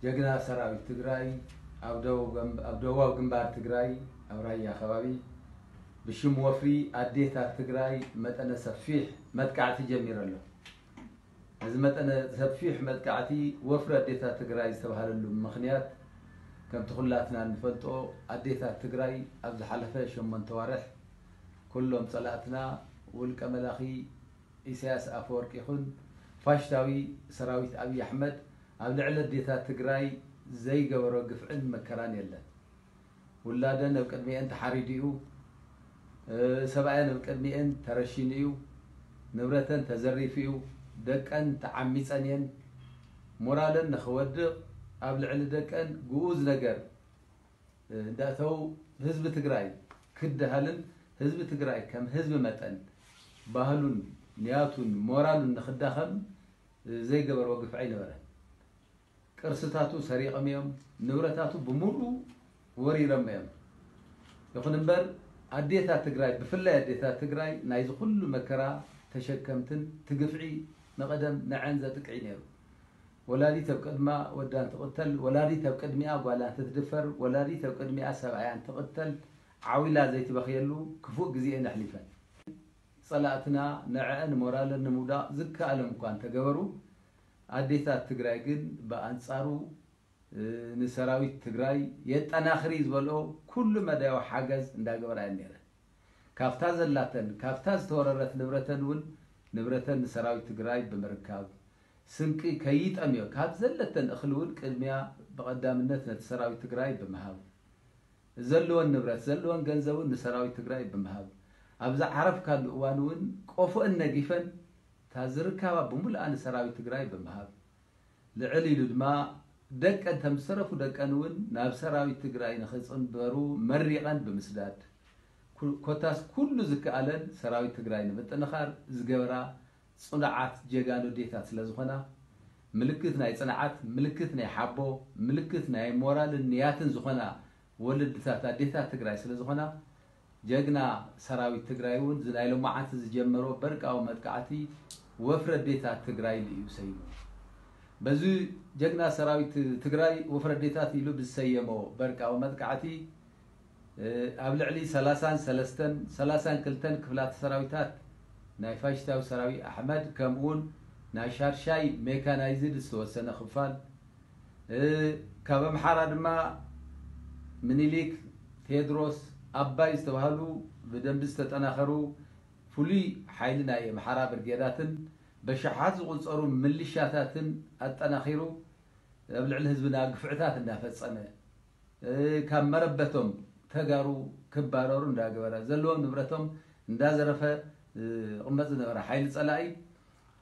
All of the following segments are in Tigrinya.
ጀግና ሰራዊት ትግራይ ኣብ ደቡብ ገም-፣ ኣብ ደቡባዊ ግንባር ትግራይ ኣብ ራያ ከባቢ ብሽም ወፍሪ ኣዴታት ትግራይ መጠነ ሰፊሕ መጥቃዕቲ ጀሚሩ ኣሎ። እዚ መጠነ ሰፊሕ መጥቃዕቲ ወፍሪ ኣዴታት ትግራይ ዝተባህለሉ ምኽንያት፣ ከምቲ ኩላትና እንፈልጦ፣ ኣዴታት ትግራይ ኣብ ዝሓለፈ ሸሞንተ ዋርሕ ኩሎም ጸላእትና፣ ውልቀ መላኺ ኢሳያስ ኣፈወርቂ ይኹን ፋሽስታዊ ሰራዊት ኣብይ ኣሕመድ፣ ኣብ ልዕሊ ኣዴታት ትግራይ ዘይገበሮ ግፍዕን መከራን የለን። ውላደን ኣብ ቅድሚኤን ተሓሪዱ እዩ። እ፣ ሰብኣየን ኣብ ቅድሚኤን ተረሺኑ እዩ። ንብረተን ተዘሪፉ እዩ። ደቀን ተዓሚፀን እየን። ሞራለን ንኽወድቕ ኣብ ልዕሊ ደቀን ግኡዝ ነገር፣ እ፣ እንዳእተው ህዝቢ ትግራይ ክደሃልን ህዝቢ ትግራይ ከም ህዝቢ መጠን ባህሉን ንያቱን ሞራሉን ንኽዳኸም፣ እ፣ ዘይገበርዎ ግፍዒ ኣይነበረን። ቅርስታቱ ሰሪቖም እዮም፣ ንብረታቱ ብምሉእ ወሪሮም እዮም። ይኹን እምበር ኣዴታት ትግራይ፣ ብፍላይ ኣዴታት ትግራይ ናይዚ ኩሉ መከራ ተሸከምትን ትግፍዒ መቐደም ንዐን ዘጥቅዒ ነይሩ። ወላዲት ኣብ ቅድማ ወዳን ትቕተል፣ ወላዲት ኣብ ቅድሚኣ ጓላ እንትትድፈር፣ ወላዲት ኣብ ቅድሚኣ ሰብኣያን ትቕተል፣ ዓው ኢላ ዘይትበኽየሉ ክፉእ ግዜኤን ኣሕሊፈን። ጸላእትና ንዐአን ሞራለን ንምውዳቕ ዝከኣሎም እኳ እንተገበሩ፣ ኣዴታት ትግራይ ግን ብኣንጻሩ፣ እ፣ ንሰራዊት ትግራይ የጠናኽሪ ዝበልኦ ኩሉ መዳያዊ ሓገዝ እንዳገበራ እየን ነይረን። ካብታ ዘላተን፣ ካብታ ዝተወረረት ንብረተን እውን፣ ንብረተን ንሰራዊት ትግራይ ብምርካብ፣ ስንቂ ከይጠምዮ ካብ ዘለተን እኽሊ እውን ቅድሚያ ብቐዳምነት ነቲ ሰራዊት ትግራይ ብምሃብ፣ ዘለወን ንብረት፣ ዘለወን ገንዘብ እውን ንሰራዊት ትግራይ ብምሃብ፣ ኣብ ዝዓረፍካሉ እዋን እውን ቆፎአን ነጊፈን እታ ዝርካባ ብምሉኣ ንሰራዊት ትግራይ ብምሃብ፣ ልዕል ኢሉ ድማ ደቀን፣ ተም ዝተረፉ ደቀን እውን ናብ ሰራዊት ትግራይ ንኽፅንበሩ መሪቐን ብምስዳድ፣ ኩ-፣ ኮታስ ኩሉ ዝከኣለን ሰራዊት ትግራይ ንምጥንኻር ዝገበራ ጽኑዓት ጀጋኑ ኣዴታት ስለ ዝኾና፣ ምልክት ናይ ጽንዓት፣ ምልክት ናይ ሓቦ፣ ምልክት ናይ ሞራልን ንያትን ዝኾና ወለድታት ኣዴታት ትግራይ ስለ ዝኾና፣ ጀግና ሰራዊት ትግራይ እውን እዚ ናይ ሎማዓንቲ ዝጀመሮ በርቃዊ መጥቃዕቲ ወፍሪ ኣዴታት ትግራይ ኢሉ እዩ ሰይሙ። በዚ ጀግና ሰራዊት ትግራይ ወፍሪ ኣዴታት ኢሉ ብዝሰየሞ በርቃዊ መጥቃዕቲ፣ እ፣ ኣብ ልዕሊ ሰላሳን ሰለስተን፣ ሰላሳን ክልተን ክፍላተ ሰራዊታት ናይ ፋሽስታዊ ሰራዊት ኣሕመድ፣ ከምኡውን ናይ ሻድሻይ ሜካናይዝድ ዝተወሰነ ክፋል፣ እ፣ ካብ ኣምሓራ ድማ ምኒልክ፣ ቴድሮስ፣ ኣባይ ዝተባህሉ ብደንቢ ዝተጠናኸሩ ፍሉይ ሓይሊ ናይ ኣምሓራ ብርጌዳትን በሽሓት ዝቑጸሩ ምልሻታትን ኣጠናኺሩ ኣብ ልዕሊ ህዝብና ግፍዕታት እንዳፈጸመ፣ እ፣ ካብ መረበቶም ተጋሩ ክባረሩ እንዳገበረ፣ ዘለዎም ንብረቶም እንዳዘረፈ፣ እ፣ ዝቕመጥ ዝነበረ ሓይሊ ጸላኢ፣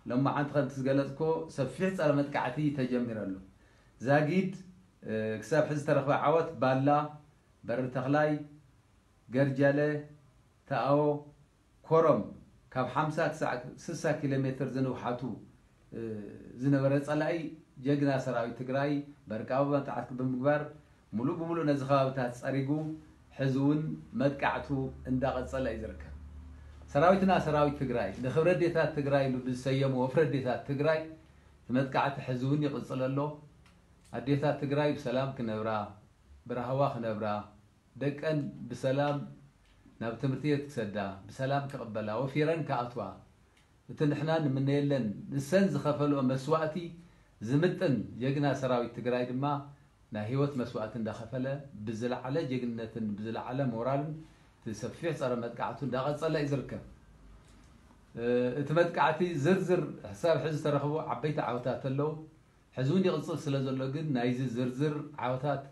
ሎማዓንቲ ከምቲ ዝገለጽኮ ሰፊሕ ጸረ መጥቃዕቲ ተጀሚሩ ኣሎ። ዛጊድ፣ እ፣ ክሳብ ሕዚ ዝተረኽበ ዓወት ባላ፣ በሪ ተኽላይ፣ ገርጃለ፣ ተኣዎ፣ ኮረም ካብ ሓምሳ ክሳዕ ስሳ ኪሎ ሜትር ዝንውሓቱ፣ እ፣ ዝነበረ ጸላኢ ጀግና ሰራዊት ትግራይ በርቃዊ መጥቃዕቲ ብምግባር ሙሉእ ብሙሉእ ነዚ ከባብታት ጸሪጉ ሕዚ እውን መጥቃዕቱ እንዳቐጸለ እዩ ዝርከብ። ሰራዊትና ሰራዊት ትግራይ ንኽብሪ ኣዴታት ትግራይ ኢሉ ብዝሰየሞ ወፍሪ ኣዴታት ትግራይ እቲ መጥቃዕቲ ሕዚ እውን ይቕጽል ኣሎ። ኣዴታት ትግራይ ብሰላም ክነብራ፣ ብራህዋ ክነብራ፣ ደቀን ብሰላም ናብ ትምህርቲ ቤት ክሰዳ፣ ብሰላም ክቕበላ፣ ወፊረን ክኣትዋ፣ እቲ ንሕና ንምነየለን ንሰን ዝኸፈልኦ መስዋእቲ ዝምጥን ጀግና ሰራዊት ትግራይ ድማ ናይ ህይወት መስዋእቲ እንዳኸፈለ ብዝለዓለ ጀግንነትን ብዝለዓለ ሞራልን እቲ ሰፊሕ ጸረ መጥቃዕቱ እንዳቐጸለ እዩ ዝርከብ። እ፣ እቲ መጥቃዕቲ ዝርዝር ክሳብ ሕዚ ዝተረኽቡ ዓበይቲ ዓወታት ኣለዉ። ሕዚ እውን ይቕጽል ስለ ዘሎ ግን ናይዚ ዝርዝር ዓወታት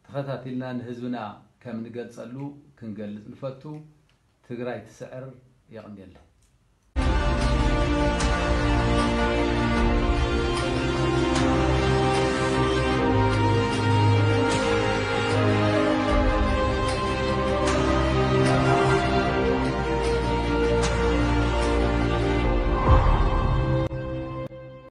ተኸታቲልና ንህዝብና ከም ንገልጸሉ ክንገልጽ ንፈቱ። ትግራይ ትስዕር። የቐንየለይ።